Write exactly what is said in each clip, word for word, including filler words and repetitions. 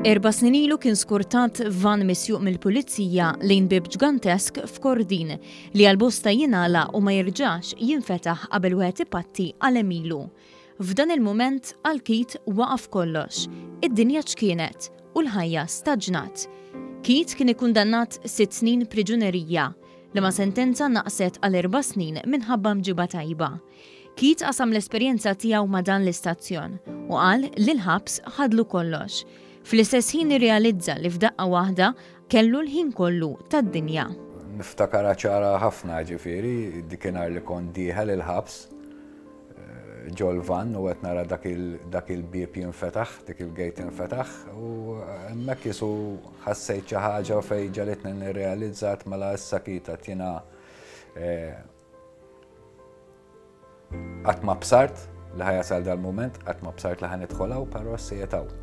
Erba' snin ilu kien skortat van misjuq mill-pulizija lejn bib ġgantesk f'Kordin li għal-bosta jingħalaq u ma jerġax jinfetaħ qabel wieħed ipatti għal għemilu. F'dan il-mument għal Keith waqaf kollox. Id-dinja ċkienet u l-ħajja staġnat. Keith kien ikkundannat sitt snin priġunerija li ma sentenza naqset għal erba' snin minħabba mġiba tajba. Keith qasam l-esperjenza tiegħu ma' dan l-istazzjon u qal li l-ħabs ħadlu kollox. Fl-istess ħin irrealizza li f'daqqa waħda kellu l-ħin kollu tad-dinja. Niftakarha ċara ħafna, ġifieri, dikinhar li kont dieħel il-ħabs eh, ġol-van u qed nara dak il-bieb jinfetaħ, dik il-gate jinfetaħ, u hemmhekk jisu ħassejt xi ħaġa fejn ġagħlitni nirrealizzat, mela issa kita jiena eh, qatt ma bsart li ħa jasal dal-moment, qatt ma bsart li ħa nidħol hawn, però qiegħed hawn.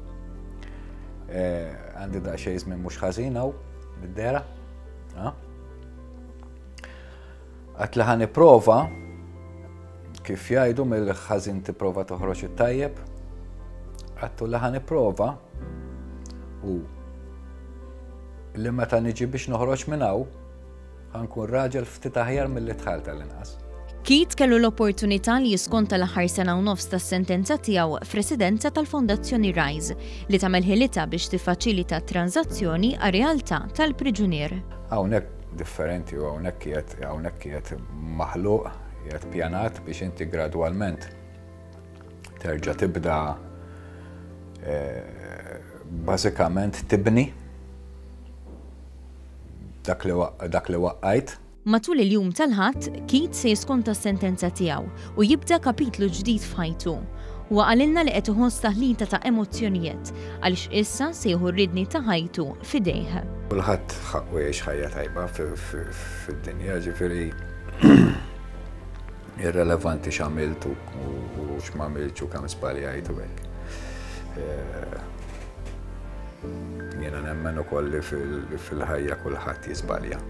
Eh, għandi daqsxejn żmien mhux ħażin hawn mid-dehra. Għedt li ħa nipprova, kif jgħidu, mill-ħażin tipprova toħroġ it-tajjeb, għedtu li ħa nipprova u li meta niġi biex noħroġ minn hawn ħa nkun raġel ftit aħjar milli dħalt tal-inqas. Keith kellu l-opportunità li jiskonta l-aħħar sena u nofs tas-sentenza tiegħu f'residenza tal-Fondazzjoni Rise li tagħmel ħilitha biex tiffaċilita tranżazzjoni għar-realtà tal-priġunier. Hawnhekk differenti u hawnhekk qiegħed hawnhekk qiegħed maħluq, qiegħed pjanat biex inti gradwalment terġa' tibda eh, bażikament tibni dak li waqqajt. Matul il-jum tal-Ħadd, Keith se jiskonta s-sentenza tiegħu u jibda kapitlu ġdid f'ħajtu. Huwa qalilna li qed iħoss taħlita ta' emozzjonijiet għaliex issa se jieħu r-riedni ta' ħajtu f'idejh. Kulħadd ħaqqu jgħix ħajja tajba fid-dinja, ġifieri irrelevanti x'għamilt u x'm'għamiltx u kemm żbaljajt u hekk. Eh, jiena nemmen ukoll li fil-ħajja kulħadd jiżbalja.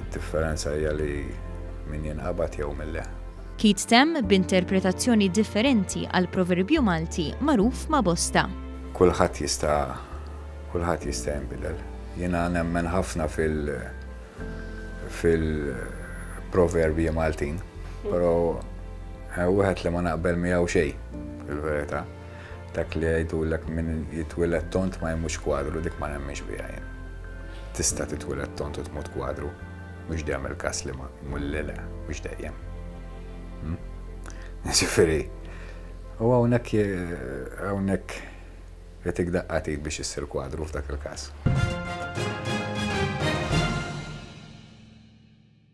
Differenza hija li min jinqabad jew min le. Keith temm b'interpretazzjoni differenti għal proverbju Malti magħruf ma' bosta. Kulħadd jista' kulħadd jista' jinbidel. Jiena nemmen ħafna fil fil-proverbji Maltin, però eh, wieħed li ma naqbel miegħu xejn fil-verità. Dak li jgħidulek min jitwieled tond ma jmutx kwadru, dik ma nemminx biha jien. Tista' titwieled tond u tmut kwadru. Mhux dejjem il-każ li ma mulli le, mhux dejjem. Hmm? Ġifieri, u hawnhekk hawnhekk jagħtik daqqa t'id biex issir kwadru f'dak il-każ.